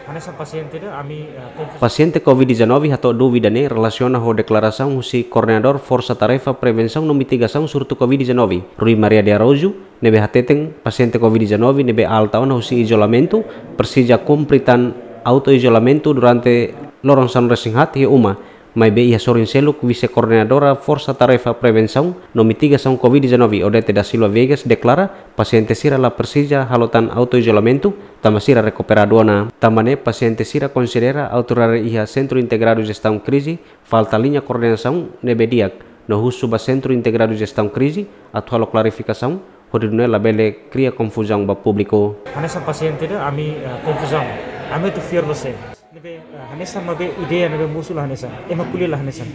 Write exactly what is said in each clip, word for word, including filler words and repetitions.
Hanesan pasiente ida, ami, eh, konfus- Pasiente covid dezanove hato'o dúvida ne'e relasiona ho deklarasaun husi Koordenadór Forsa Tarefa Prevensaun no Mitigasaun Surtu covid dezanove, Rui Maria de Araújo, ne'ebé hateten pasiente covid dezanove ne'ebé alta ona husi izolamentu, presiza kumpre tan autoizolamentu durante loron sanulu-resin-haat iha uma, maibé iha sorin seluk Vise-Koordenadora Forsa Tarefa Prevensaun no Mitigasaun covid dezanove, Odete da Silva Viegas, deklara pasiente sira la presiza halo tan autoizolamentu, tanba sira rekuperadu ona. Tanba ne'e pasiente sira konsidera autoridade iha Sentru Integradu Jestaun Krize falta liña koordenasaun ne'ebé di'ak, no husu ba Sentru Integradu Jestaun Krize atu halo klarifikasaun, hodi nune'e labele kria konfuzaun ba públiku. Hanesan pasiente ida, ami, eh, konfuzaun. Ami atu fiar ba sé? Ne'ebé, eh, hanesan maibé ideia ne'ebé mosu la hanesan. Ema ko'alia la hanesan.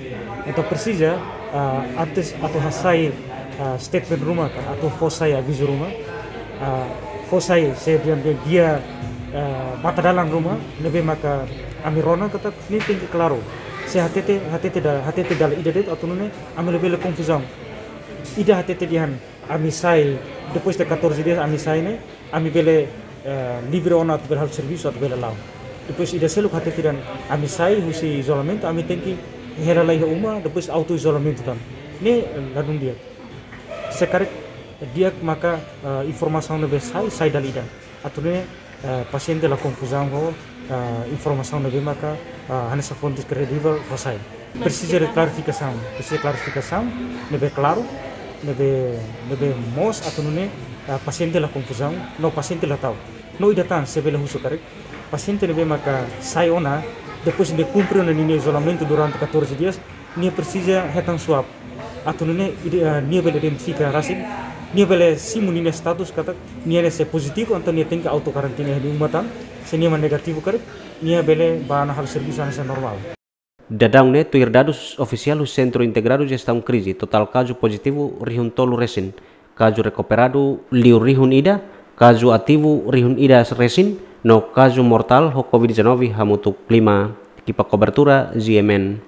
Entaun presiza, eh, antes atu hasai, eh, statement ruma ka, atu fó sai avizu ruma, eh, fó sai se dia, dia, dia, eh, matadalan ruma, ne'ebé maka ami rona katak ne'e tenke klaru. Se hatete, hatete da, hatete dala ida de'it atu nune'e ami labele konfuzaun. Ida hatete dehan, ami sai, depois de catorze dias ami sai ne'e, ami bele, eh, livre ona atu bele halo servisu atu bele la'o. Depois ida seluk hatete dehan ami sai husi izolamentu, ami tenke hela lai iha uma, depois autoizolamentu tan. Ne'e, eh, ladún di'ak. Se karik di'ak maka, eh, informasaun ne'ebé sai, sai dala ida. Atu nune'e, eh, pasiente la konfuzaun ho, eh, informasaun ne'ebé maka, eh, hanesan fontes kredivel fó sai. Presiza de klarifikasaun, presiza klarifikasaun ne'ebé klaru, ne'ebé, ne'ebé moos atu nune'e, eh, pasiente la konfuzaun, no pasiente la ta'uk. No ida tan, se bele husu karik, pasiente ne'ebé maka sai ona, depois de kumpre ona ninia izolamentu durante catorze dias, nia presiza hetan swab. Atu nune'e ide-, eh, nia bele identifika rasik, nia bele simu ninia status katak nia ne'e se pozitivu, entaun nia tenke auto karantina iha uma tan, se nia mak negativu karik, nia bele bá ona halo servisu hanesan normál. Daudaun ne'e tuir dadus ofisiál husi Sentru Integradu Jestaun Krize, totál kazu pozitivu rihun tolu resin, kazu rekuperadu liu rihun ida, kazu ativu rihun ida resin, no kazu mortál ho covid dezanove hamutuk lima. Ekipa kobertura, G M N.